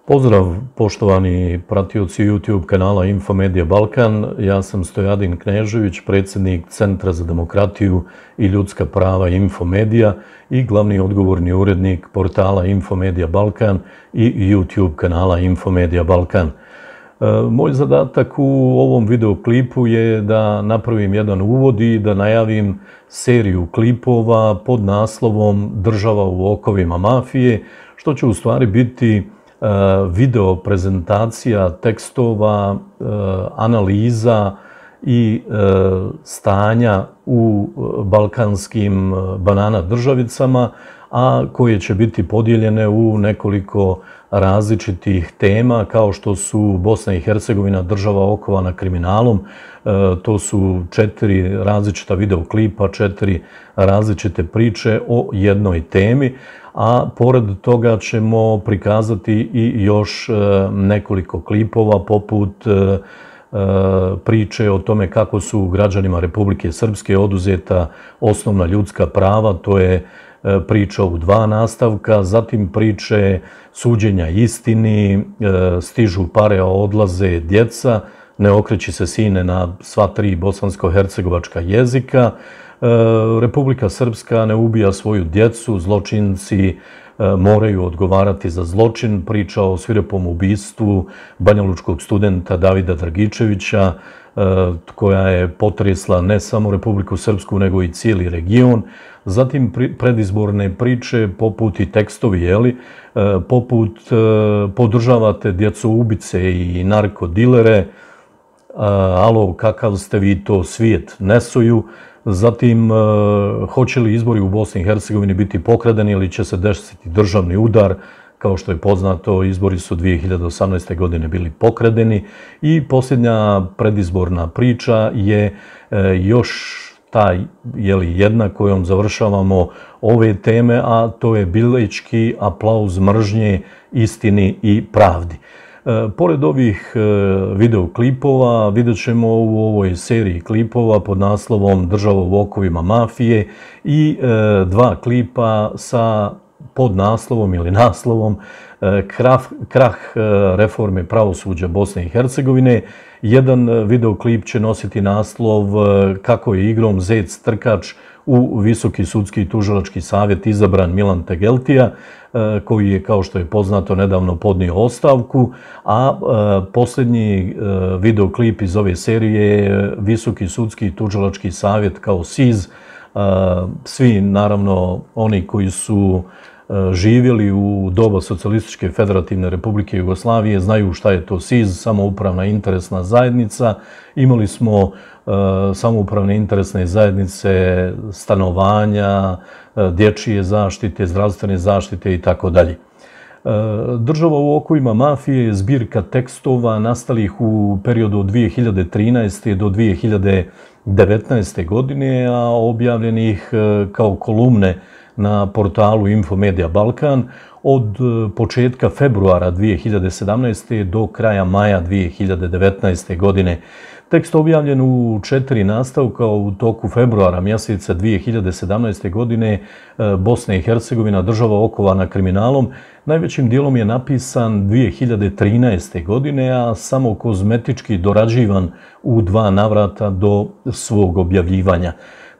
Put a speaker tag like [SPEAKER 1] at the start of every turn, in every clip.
[SPEAKER 1] Pozdrav poštovani pratioci YouTube kanala Infomedia Balkan. Ja sam Stojadin Knežević, predsjednik Centra za demokratiju i ljudska prava Infomedia i glavni odgovorni urednik portala Infomedia Balkan i YouTube kanala Infomedia Balkan. Moj zadatak u ovom videoklipu je da napravim jedan uvod i da najavim seriju klipova pod naslovom Država u okovima mafije, što će u stvari biti video prezentacija tekstova, analiza i stanja u balkanskim banana državicama, a koje će biti podijeljene u nekoliko različitih tema, kao što su Bosna i Hercegovina, država okovana kriminalom. To su 4 različita videoklipa, 4 različite priče o jednoj temi, a pored toga ćemo prikazati i još nekoliko klipova poput priče o tome kako su građanima Republike Srpske oduzeta osnovna ljudska prava. To je priča u 2 nastavka, zatim priče suđenja istini, stižu pare, a odlaze djeca, ne okreći se sine na sva 3 bosansko-hercegovačka jezika, Republika Srpska ne ubija svoju djecu, zločinci moraju odgovarati za zločin, priča o svirepom ubistvu banjalučkog studenta Davida Dragičevića, koja je potresla ne samo Republiku Srpsku, nego i cijeli region. Zatim predizborne priče poput i tekstovi, poput podržavate djecoubice i narkodilere, alo, kakav ste vi to svijet nesuju. Zatim, hoće li izbori u Bosni i Hercegovini biti pokradeni ili će se desiti državni udar? Kao što je poznato, izbori su 2018. godine bili pokradeni. I posljednja predizborna priča je još jedna kojom završavamo ove teme, a to je Bilićki aplauz mržnje istini i pravdi. Pored ovih videoklipova vidjet ćemo u ovoj seriji klipova pod naslovom Država u okovima mafije i 2 klipa sa podnaslovom ili naslovom Krah reforme pravosuđa Bosne i Hercegovine. Jedan videoklip će nositi naslov Kako je igrom zec trkač u Visoki sudski i tužilački savjet izabran Milan Tegeltija, koji je, kao što je poznato, nedavno podnio ostavku, a posljednji videoklip iz ove serije je Visoki sudski i tužilački savjet kao SIZ. Svi, naravno, oni koji su živjeli u doba Socijalističke federativne republike Jugoslavije znaju šta je to SIZ, samoupravna interesna zajednica. Imali smo samoupravne interesne zajednice stanovanja, dječje zaštite, zdravstvene zaštite i tako dalje. Država u okovima mafije je zbirka tekstova nastalih u periodu od 2013. do 2019. godine, a objavljenih kao kolumne na portalu Infomedia Balkan od početka februara 2017. do kraja maja 2019. godine. Tekst objavljen u 4 nastavka u toku februara mjeseca 2017. godine, Bosna i Hercegovina, država okovana kriminalom, najvećim dijelom je napisan 2013. godine, a samo kozmetički dorađivan u 2 navrata do svog objavljivanja.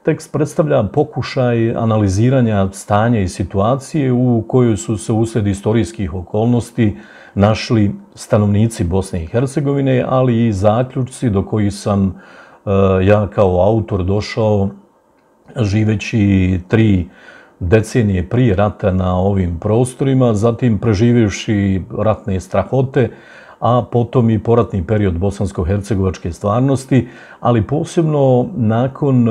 [SPEAKER 1] Tekst predstavlja pokušaj analiziranja stanja i situacije u kojoj su se uslijed istorijskih okolnosti našli stanovnici Bosne i Hercegovine, ali i zaključci do kojih sam ja kao autor došao živeći 3 decenije prije rata na ovim prostorima, zatim preživjevši ratne strahote, a potom i poratni period bosansko-hercegovačke stvarnosti, ali posebno nakon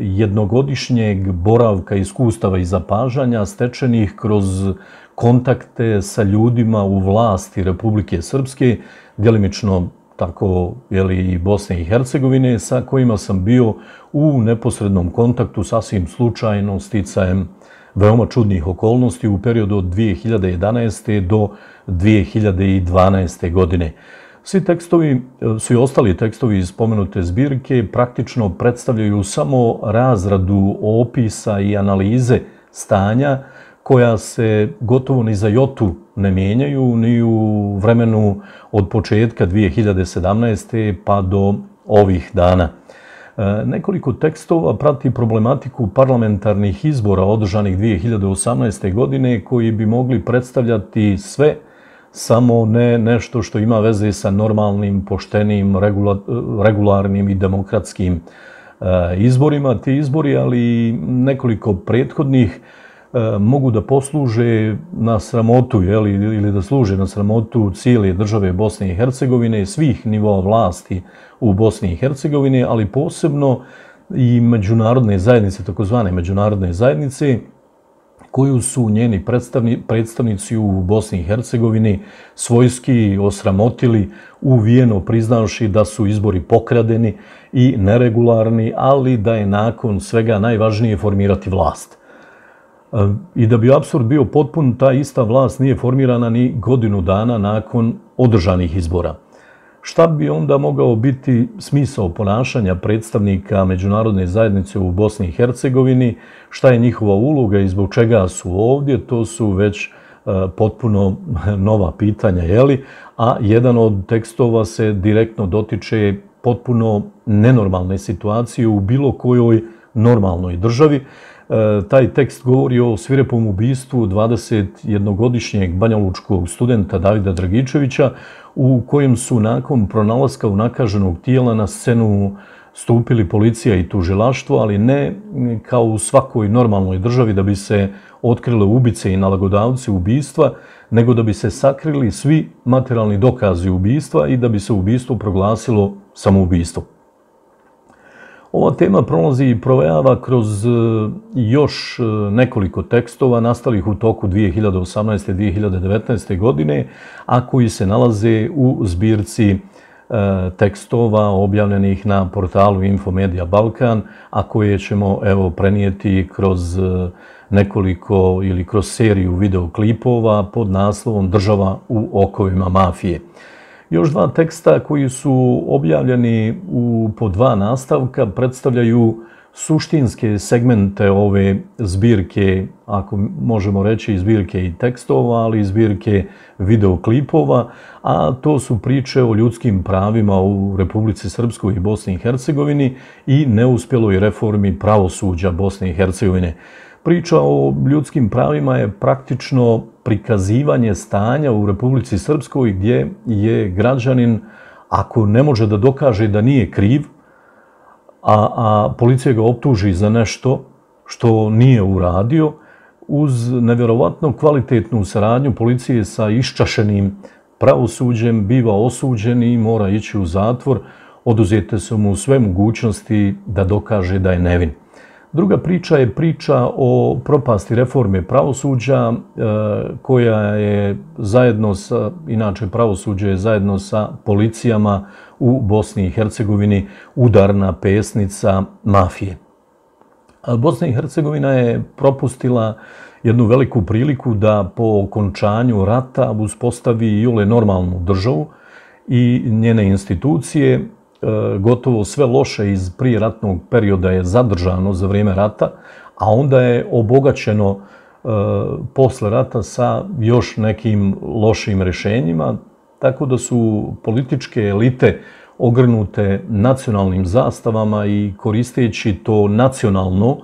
[SPEAKER 1] jednogodišnjeg boravka, iskustava i zapažanja stečenih kroz kontakte sa ljudima u vlasti Republike Srpske, djelimično tako i Bosne i Hercegovine, sa kojima sam bio u neposrednom kontaktu sasvim slučajno, sticajem veoma čudnih okolnosti u periodu od 2011. do 2012. godine. Svi tekstovi, svi ostali tekstovi iz spomenute zbirke praktično predstavljaju samo razradu opisa i analize stanja koja se gotovo ni za jotu ne mijenjaju ni u vremenu od početka 2017. pa do ovih dana. Nekoliko tekstova prati problematiku parlamentarnih izbora održanih 2018. godine koji bi mogli predstavljati sve, samo ne nešto što ima veze sa normalnim, poštenim, regularnim i demokratskim izborima. Ti izbori, ali i nekoliko prethodnih, mogu da posluže na sramotu ili da služe na sramotu cijele države Bosne i Hercegovine, svih nivoa vlasti u Bosni i Hercegovini, ali posebno i međunarodne zajednice, takozvane međunarodne zajednice, koju su njeni predstavnici u Bosni i Hercegovini svojski osramotili, uvijeno priznavši da su izbori pokradeni i neregularni, ali da je nakon svega najvažnije formirati vlast. I da bi apsurd bio potpun, ta ista vlast nije formirana ni godinu dana nakon održanih izbora. Šta bi onda mogao biti smisao ponašanja predstavnika međunarodne zajednice u Bosni i Hercegovini, šta je njihova uloga i zbog čega su ovdje, to su već potpuno nova pitanja, a jedan od tekstova se direktno dotiče potpuno nenormalne situacije u bilo kojoj normalnoj državi. Taj tekst govori o svirepom ubistvu 21-godišnjeg banjalučkog studenta Davida Dragičevića, u kojem su nakon pronalaska unakaženog tijela na scenu stupili policija i tužilaštvo, ali ne kao u svakoj normalnoj državi da bi se otkrile ubice i nalagodavci ubistva, nego da bi se sakrili svi materijalni dokazi ubistva i da bi se ubistvo proglasilo samoubistvo. Ova tema prolazi i provejava kroz još nekoliko tekstova nastalih u toku 2018. i 2019. godine, a koji se nalaze u zbirci tekstova objavljenih na portalu Infomedia Balkan, a koje ćemo prenijeti kroz nekoliko ili kroz seriju videoklipova pod naslovom Država u okovima mafije. Još dva teksta koji su objavljeni po dva nastavka predstavljaju suštinske segmente ove zbirke, ako možemo reći zbirke i tekstova, ali i zbirke videoklipova, a to su priče o ljudskim pravima u Republici Srpskoj i Bosni i Hercegovini i neuspjeloj reformi pravosuđa Bosne i Hercegovine. Priča o ljudskim pravima je praktično prikazivanje stanja u Republici Srpskoj gdje je građanin, ako ne može da dokaže da nije kriv, a policija ga optuži za nešto što nije uradio, uz nevjerovatno kvalitetnu saradnju policije sa iščašenim pravosuđem biva osuđen i mora ići u zatvor, oduzete su mu sve mogućnosti da dokaže da je nevin. Druga priča je priča o propasti reforme pravosuđa koja je zajedno sa, inače pravosuđe je zajedno sa policijama u Bosni i Hercegovini udarna pesnica mafije. Bosna i Hercegovina je propustila jednu veliku priliku da po okončanju rata uspostavi iole normalnu državu i njene institucije. Gotovo sve loše iz prijeratnog perioda je zadržano za vrijeme rata, a onda je obogaćeno posle rata sa još nekim lošim rješenjima, tako da su političke elite ogrnute nacionalnim zastavama i koristeći to nacionalno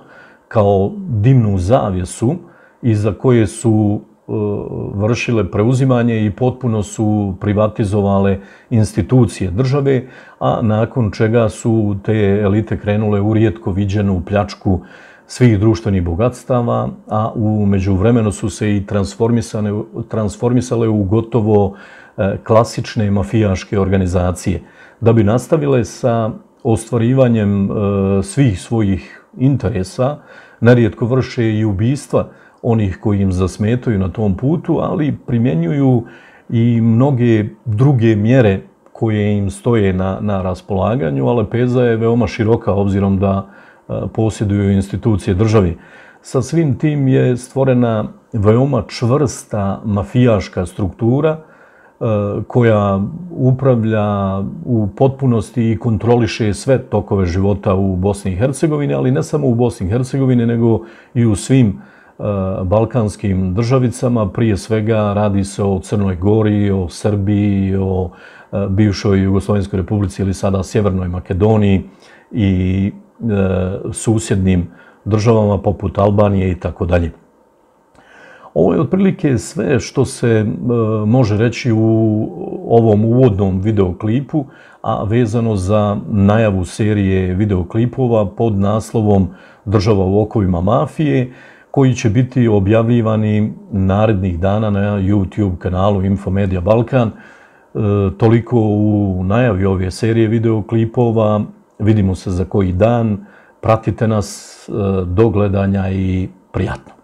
[SPEAKER 1] kao dimnu zavjesu iza koje su vršile preuzimanje i potpuno su privatizovale institucije države, a nakon čega su te elite krenule u rijetko viđenu pljačku svih društvenih bogatstava, a u međuvremenu su se i transformisale u gotovo klasične mafijaške organizacije. Da bi nastavile sa ostvarivanjem svih svojih interesa, nerijetko vrše i ubistva onih koji im zasmetaju na tom putu, ali primjenjuju i mnoge druge mjere koje im stoje na raspolaganju, a lepeza je veoma široka obzirom da posjeduju institucije države. Sa svim tim je stvorena veoma čvrsta mafijaška struktura koja upravlja u potpunosti i kontroliše sve tokove života u Bosni i Hercegovini, ali ne samo u Bosni i Hercegovini, nego i u svim balkanskim državicama. Prije svega radi se o Crnoj Gori, o Srbiji, o bivšoj Jugoslovenskoj republici ili sada Sjevernoj Makedoniji i susjednim državama poput Albanije i tako dalje. Ovo je otprilike sve što se može reći u ovom uvodnom videoklipu, a vezano za najavu serije videoklipova pod naslovom Država u okovima mafije, koji će biti objavljivani narednih dana na YouTube kanalu Infomedia Balkan. Toliko u najavi ove serije videoklipova. Vidimo se za koji dan. Pratite nas, do gledanja i prijatno.